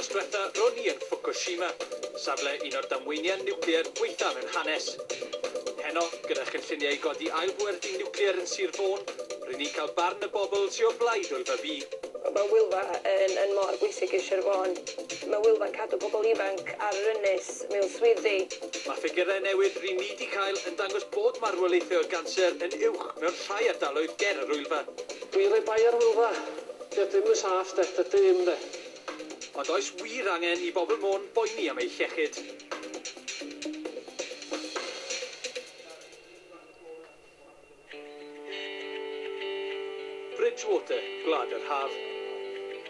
Wythnos dwetha, ro'n i yn Fukushima, safle un o'r damweiniau niwclear gwaetha mewn hanes. Heno, gyda chynlluniau i godi ail bwerdy niwclear yn Sir Fôn, ry'n ni'n cael barn y bobl sy o blaid Wylfa B. Mae Wylfa yn mor bwysig i Sir Fôn. Mae Wylfa'n cadw pobl ifanc ar yr ynys mewn swyddi. Mae ffigurau newydd ry'n ni 'di cael yn dangos bod marwolaethau o ganser yn uwch mewn rhai ardaloedd ger yr Wylfa. Dwi'n rhoi bai ar Wylfa. Dio ddim yn saff de, dydy ddim de. Ond oes wir angen i bobl Môn boeni am eu hiechyd? Bridgewater, Gwlad yr Haf.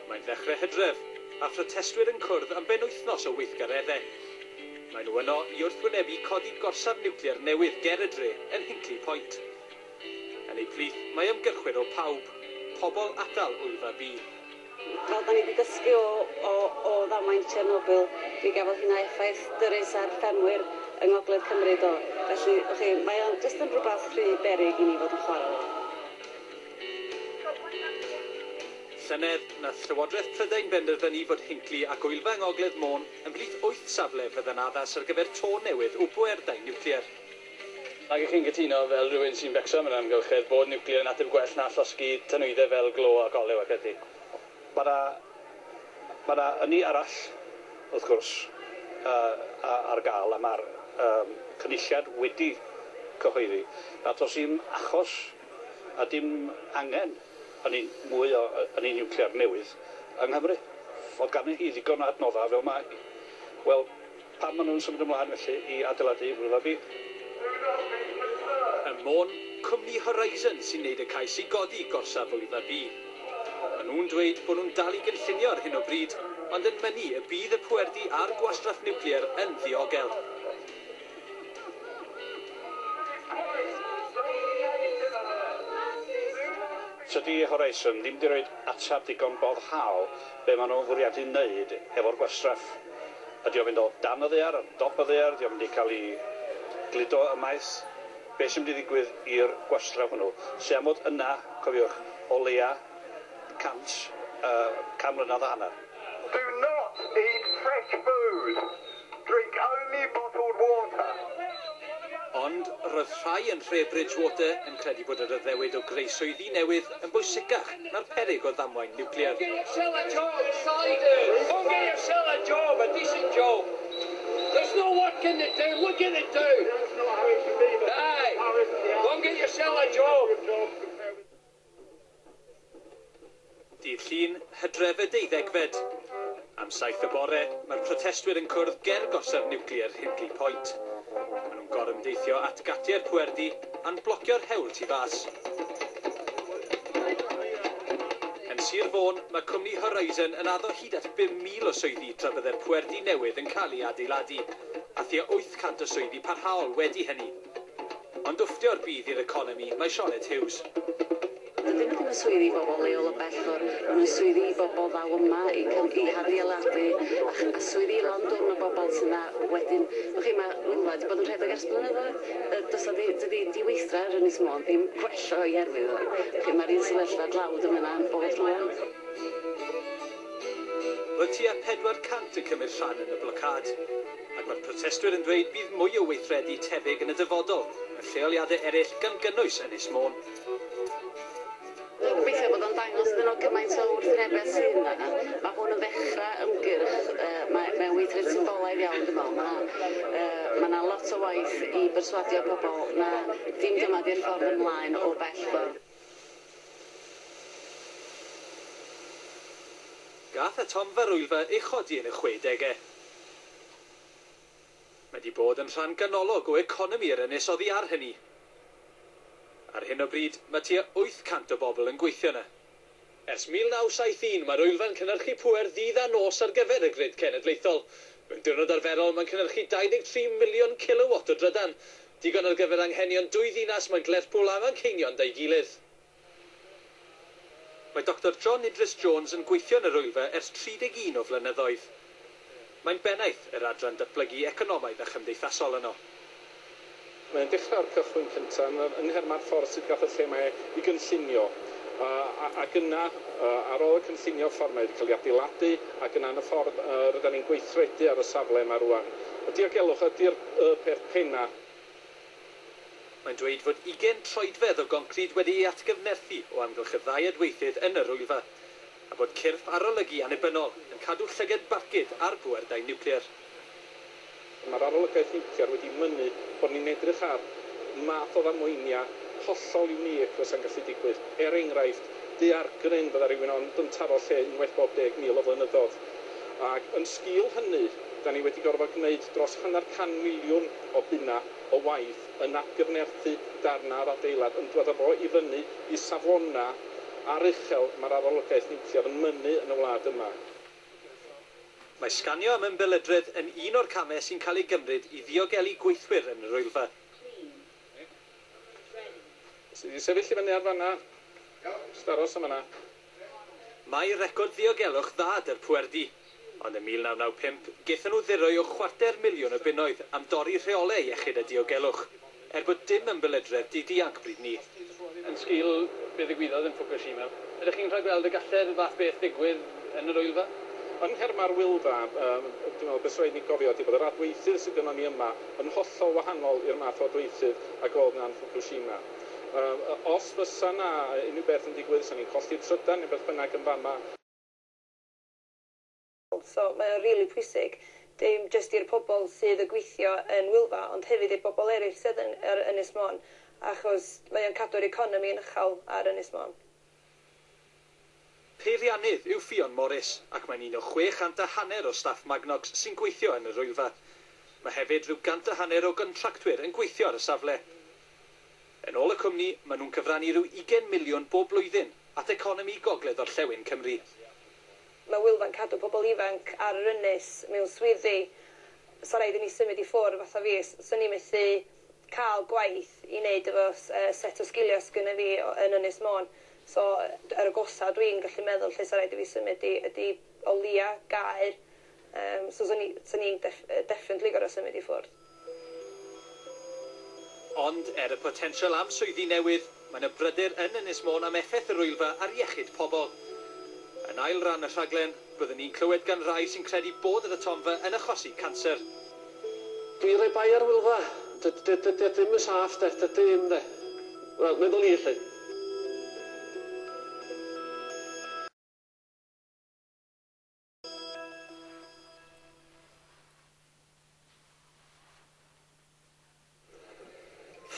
Mae'n ddechrau Hydref, a phrotestwyr yn cwrdd am benwythnos o weithgareddau. Maen nhw yno i wrthwynebu codi gorsaf niwclear newydd ger y dre yn Hinkley Point. Yn eu plith mae ymgyrchwyr o Pawb, Pobl Atal Wylfa B. Fel da ni wedi dysgu o ddamwain Chernobyl, mi gafodd hynna effaith dyrys ar ffermwyr yng Ngogledd Cymru do. Felly, chi, mae o'n jyst yn rhywbeth rhy beryg i ni fod yn chwarae fo. Llynedd, nath Llywodraeth Prydain benderfynu fod Hinkley ac Wylfa yng Ngogledd Môn ymhlith 8 safle fydd yn addas ar gyfer to newydd o bwerdai niwclear. Ac ych chi'n cytuno, fel rhywun sy'n becso am yr amgylchedd, bod niwclear yn ateb gwell na llosgi tanwyddau fel glo ac olew ac ati? Mae 'na ynni arall, wrth gwrs, ar gael, a mae'r cynulliad wedi cyhoeddi nad oes dim achos a dim angen ynni mwy o ynni niwclear newydd yng Nghymru. Fod gan hi ddigon o adnoddau fel mae hi. Wel, pam maen nhw'n symud ymlaen felly i adeiladu Wylfa B? Ym Môn, cwmni Horizon sy'n neud y cais i godi gorsaf Wylfa B. Maen nhw'n dweud bod nhw'n dal i gynllunio ar hyn o bryd, ond yn mynnu y bydd y pwerdy a'r gwastraff niwclear yn ddiogel. Tydi Horizon ddim 'di roid ateb digon boddhaol be maen nhw'n fwriadu wneud efo'r gwastraff. Ydy o'n mynd o dan y ddaear, ar dop y ddaear, ydy o'n mynd i cael ei gludo ymaith? Be sy'n mynd i ddigwydd i'r gwastraff hwnnw? Sy am fod yna, cofiwch, o leia 100, 100 mlynedd a hanner. Do not eat fresh food. Drink only bottled water. Ond roedd rhai yn nhre Bridgewater yn credu bod yr addewid o greu swyddi newydd yn bwysicach na'r peryg o ddamwain niwclear. Go get yourself a job, Go get yourself a job, a decent job. There's no work in the town. Look at the town. Aye. Go and get yourself a job. Dydd Llun, Hydref y 12fed. Am 7 y bore, mae'r protestwyr yn cwrdd ger gorsaf niwclear Hinkley Point. Maen nhw'n gorymdeithio at gatiau'r pwerdy a'n blocio'r hewl tu fas. Yn Sir Fôn, mae cwmni Horizon yn addo hyd at 5,000 o swyddi tra bydde'r pwerdy newydd yn cael ei adeiladu, a thua 800 o swyddi parhaol wedi hynny. Ond wfftio'r budd i'r economi mae Sioned Hughes. Dydyn nhw ddim yn swyddi i bobl leol o bell ffordd, maen nhw'n swyddi i bobl ddaw yma i hadeiladu a swyddi i lond dwrn o bobl sydd yna wedyn. Chi, mae Wylfa wedi bod yn rhedeg ers blynyddoedd. Does 'na dydy diweithdra ar Ynys Môn ddim gwella o'i herwydd o. Chi, mae'r un sefyllfa dlawd yma yna'n bod rŵan. Roedd tua 400 yn cymryd rhan yn y blocâd, ac mae'r protestwyr yn dweud bydd mwy o weithredu tebyg yn y dyfodol, mewn lleoliadau eraill gan gynnwys Ynys Môn. Dwi'n gobeithio bod o'n dangos iddyn nhw cymaint o wrthwynebedd sydd yna. Mae hwn yn ddechrau ymgyrch, mae'n weithred symbolaidd iawn dwi'n meddwl. Mae 'na lot o waith i berswadio pobl na dim dyma di'r ffordd ymlaen o bell ffordd. Gath atomfa'r Wylfa ei chodi yn y 60au. Mae 'di bod yn rhan ganolog o economi yr ynys oddi ar hynny. Ar hyn o bryd, mae tua 800 o bobl yn gweithio yna. Ers 1971, mae'r Wylfa'n cynhyrchu pŵer ddydd a nos ar gyfer y grid cenedlaethol. Mewn diwrnod arferol, mae'n cynhyrchu 23 miliwn kilowatt o drydan. Digon ar gyfer anghenion dwy ddinas mae'n Lerpwl a Manceinion da'i gilydd. Mae Dr John Idris Jones yn gweithio yn yr Wylfa ers 31 o flynyddoedd. Mae'n bennaeth yr adran datblygu economaidd a chymdeithasol yno. Mae'n dechrau'r cychwyn cyntaf yn nhermau'r ffordd sydd gath y lle mae i gynllunio. Ac yna, ar ôl y cynllunio ffordd mae wedi cael ei adeiladu, ac yna yn y ffordd rydyn ni'n gweithredu ar y safle yma rwan. Y diogelwch ydy'r peth penna. Mae'n dweud fod 20 troedfedd o goncrid wedi'i atgyfnerthu o amgylch y ddau adweithydd yn yr Wylfa, a bod cyrff arolygu annibynnol yn cadw llygad barcud ar bwerdai niwclear. Mae'r arolygaeth niwclear wedi mynnu bod ni'n edrych ar math o ddamweiniau hollol unique fysa'n gallu digwydd. Er enghraifft, daeargryn fydda rhywun ond yn taro lle unwaith bob 10,000 o flynyddoedd. Ac yn sgil hynny, da ni wedi gorfod gwneud dros 500 miliwn o bunna o waith yn atgyfnerthu darna o'r adeilad, yn dod â fo i fyny i safona aruchel mae'r arolygaeth niwclear yn mynnu yn y wlad yma. Mae sganio am ymbelydredd yn un o'r camau sy'n cael ei gymryd i ddiogelu gweithwyr yn yr Wylfa. Sy 'di sefyll i fyny ar fanna. Jyst aros am fanna. Mae record ddiogelwch dda 'da'r pwerdy, ond ym 1995 gaethon nhw ddirwy o 250,000 o bunnoedd am dorri rheolau iechyd a diogelwch, er bod dim ymbelydredd 'di dianc bryd 'ny. Yn sgil be ddigwyddodd yn Fukushima, ydych chi'n rhagweld y gallai'r fath beth ddigwydd yn yr Wylfa? Yn nherma'r Wylfa, dwi'n meddwl beth sy'n rhaid ni gofio ydy bod yr adweithydd sydd gynnon ni yma yn hollol wahanol i'r math o adweithydd ag oedd 'na yn Fukushima. Os fysa 'na unrhyw beth yn digwydd, 'sa ni'n colli trydan neu beth bynnag yn fama. So mae o'n rili pwysig, dim jyst i'r pobl sydd yn gweithio yn Wylfa, ond hefyd i'r bobl eraill sydd yn ar Ynys Môn, achos mae o'n cadw'r economi yn uchel ar Ynys Môn. Peiriannydd yw Ffion Morris, ac mae'n un o 650 o staff Magnox sy'n gweithio yn yr Wylfa. Mae hefyd rhyw 150 o gontractwyr yn gweithio ar y safle. Yn ôl y cwmni, maen nhw'n cyfrannu rhyw 20 miliwn bob blwyddyn at economi gogledd orllewin Cymru. Mae Wylfa'n cadw pobl ifanc ar yr ynys mewn swyddi. So rhaid i ni symud i ffwrdd fatha fi, swn i'n methu cael gwaith i wneud efo set o sgiliau sgynna fi yn Ynys Môn. So yr agosa dwi'n gallu meddwl lle sa raid i fi symud i ydy o leia Gaer. So swn i'n definitely gorfod symud i ffwrdd. Ond er y potensial am swyddi newydd, mae 'na bryder yn Ynys Môn am effaith yr Wylfa ar iechyd pobl. Yn ail ran y rhaglen, byddwn ni'n clywed gan rai sy'n credu bod yr atomfa yn achosi canser. Dwi'n rhoi bai ar Wylfa. Dydy ddim yn saff de, dydy ddim de. Wel, meddwl i 'lly.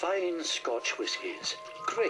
Fine Scotch whiskies. Great.